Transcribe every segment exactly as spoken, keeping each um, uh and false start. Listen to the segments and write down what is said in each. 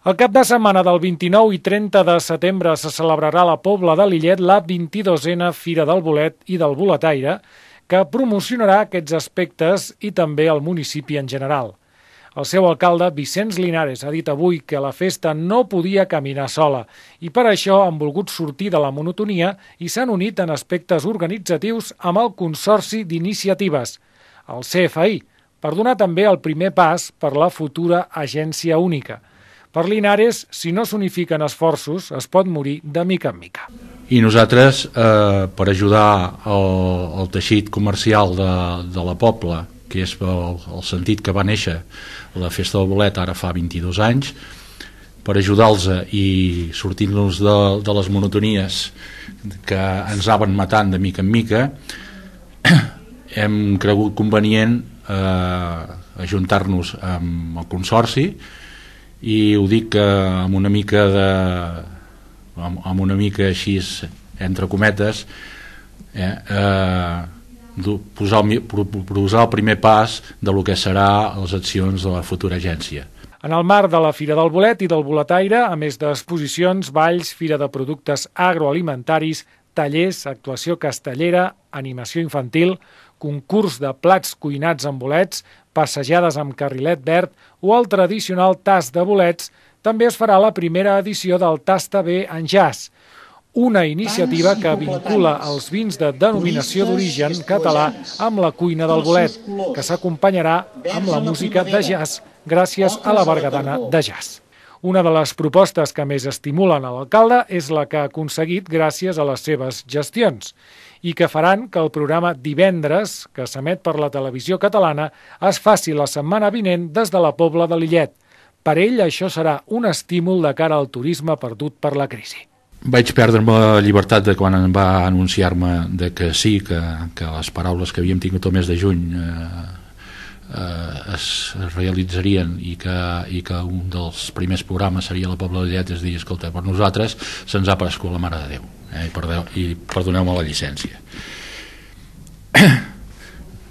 El cap de setmana del vint-i-nou i trenta de setembre se celebrarà a la Pobla de Lillet la vint-i-dosena Fira del Bolet i del Boletaire, que promocionarà aquests aspectes i també el municipi en general. El seu alcalde, Vicenç Linares, ha dit avui que la festa no podia caminar sola i per això han volgut sortir de la monotonia i s'han unit en aspectes organitzatius amb el Consorci d'Iniciatives, el C F I, per donar també el primer pas per la futura agència única. Per Linares, si no s'unifiquen esforços, es pot morir de mica en mica. I nosaltres, eh, per ajudar el, el teixit comercial de, de la Pobla, que és el, el sentit que va néixer la Festa del Bolet ara fa vint-i-dos anys, per ajudar-los i sortir-nos de, de les monotonies que ens anaven matant de mica en mica, hem cregut convenient eh, ajuntar-nos amb el Consorci, i ho dic amb una mica de amb una mica així entre cometes eh, eh, posar, el, posar el primer pas de lo que serà les accions de la futura agència. En el marc de la Fira del Bolet i del Boletaire, a més d'exposicions, balls, fira de productes agroalimentaris, tallers, actuació castellera, animació infantil, concurs de plats cuinats amb bolets, passejades amb carrilet verd o el tradicional tast de bolets, també es farà la primera edició del Tasta Bé en Jazz, una iniciativa que vincula els vins de denominació d'origen català amb la cuina del bolet, que s'acompanyarà amb la música de jazz gràcies a la Bergadana de Jazz. Una de les propostes que més estimulen a l'alcalde és la que ha aconseguit gràcies a les seves gestions i que faran que el programa Divendres, que s'emet per la televisió catalana, es faci la setmana vinent des de la Pobla de Lillet. Per ell, això serà un estímul de cara al turisme perdut per la crisi. Vaig perdre-me la llibertat de quan em va anunciar-me de que sí, que, que les paraules que havíem tingut el mes de juny eh, eh, es realitzarien i que, i que un dels primers programes seria la Pobla de Lillet. És dir, escolta, per nosaltres se'ns ha aparegut la Mare de Déu, eh, i, perdeu, i perdoneu-me la llicència.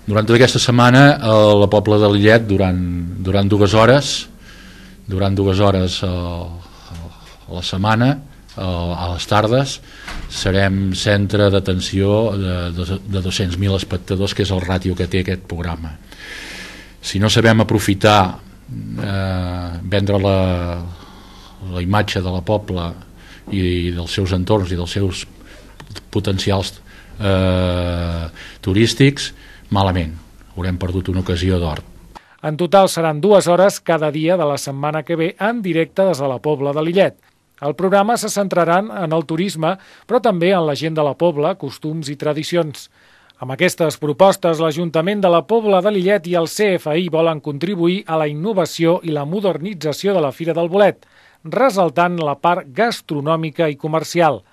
Durant tota aquesta setmana a la Pobla de Lillet, durant, durant dues hores durant dues hores a, a la setmana, a les tardes, serem centre d'atenció de, de, de dos-cents mil espectadors, que és el ràtio que té aquest programa. Si no sabem aprofitar, eh, vendre la, la imatge de la Pobla i dels seus entorns i dels seus potencials eh, turístics, malament, haurem perdut una ocasió d'or. En total seran dues hores cada dia de la setmana que ve en directe des de la Pobla de Lillet. El programa se centrarà en el turisme, però també en la gent de la Pobla, costums i tradicions. Amb aquestes propostes, l'Ajuntament de la Pobla de Lillet i el C F I volen contribuir a la innovació i la modernització de la Fira del Bolet, ressaltant la part gastronòmica i comercial.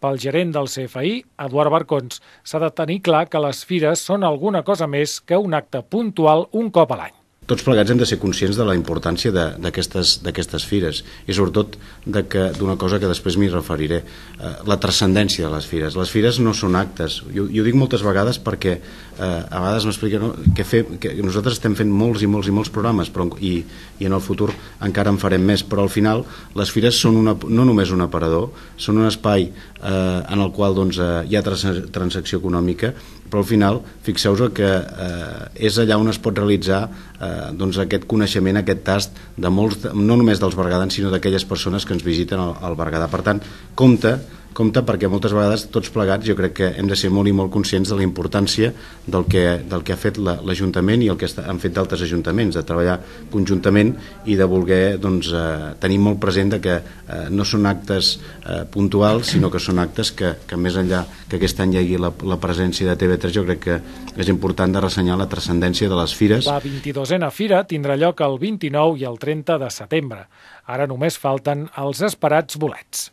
Pel gerent del C F I, Eduard Barcons, s'ha de tenir clar que les fires són alguna cosa més que un acte puntual un cop a l'any. Tots plegats hem de ser conscients de la importància d'aquestes fires i sobretot d'una cosa que després m'hi referiré, eh, la transcendència de les fires. Les fires no són actes, jo, jo ho dic moltes vegades perquè eh, a vegades m'expliquen no, que, fe, que nosaltres estem fent molts i molts i molts programes però, i, i en el futur encara en farem més, però al final les fires són una, no només un aparador, són un espai eh, en el qual doncs, eh, hi ha trans, transacció econòmica, però al final fixeu-vos que eh, és allà on es pot realitzar eh, doncs aquest coneixement, aquest tast de molts, no només dels bergadans sinó d'aquelles persones que ens visiten al, al Berguedà. Per tant, compte compte perquè moltes vegades tots plegats jo crec que hem de ser molt i molt conscients de la importància del que, del que ha fet l'Ajuntament i el que han fet d'altres ajuntaments, de treballar conjuntament i de voler doncs, eh, tenir molt present que eh, no són actes eh, puntuals sinó que són actes que, que més enllà que aquest any hi hagi la, la presència de T V tres, jo crec que és important de ressenyar la transcendència de les fires. La vint-i-dosena Fira tindrà lloc el vint-i-nou i el trenta de setembre. Ara només falten els esperats bolets.